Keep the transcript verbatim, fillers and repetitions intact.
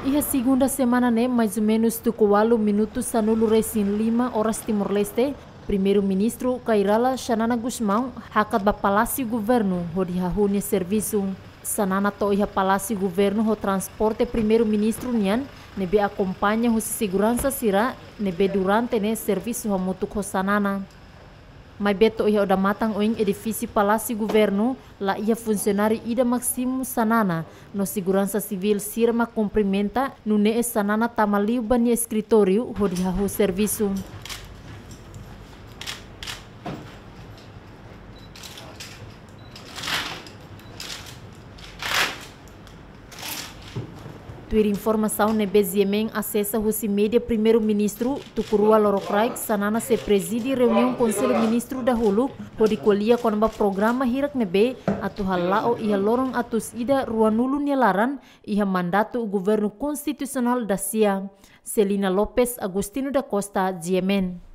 Iha segunda semana ne'e, mais ou menus tuku ualu minutu sanulu-resin-lima oras Timor-Leste, Primeiru-Ministru Kay Rala Xanana Gusmão hakat ba Palásiu Governu hodi hahú nia servisu. Xanana to'o iha Palásiu Governu ho transporte Primeiru-Ministru nian, ne'ebé akompaña husi seguransa sira ne'ebé durante ne'e servisu hamutuk ho Xanana. Maibé to'o iha odamatan oin edifísiu Palásiu Governu, la iha funsionáriu ida mak simu Xanana, no seguransa sivíl sira mak kumprimenta, nune'e Xanana tama liu ba nia eskritóriu hodi hahú servisu. Tuir informasaun ne'ebé GMN asesa husi média Primeiru-Ministru, tuku rua lorokraik Xanana sei prezide reuniaun Konsellu Ministru dahuluk hodi ko'alia kona-ba programa hirak ne'ebé atu hala'o iha loron atus ida ruanulu nia laran iha mandatu Governu Konstitusionál dasia. Celina Lopes, Agostinho da Costa, GMN.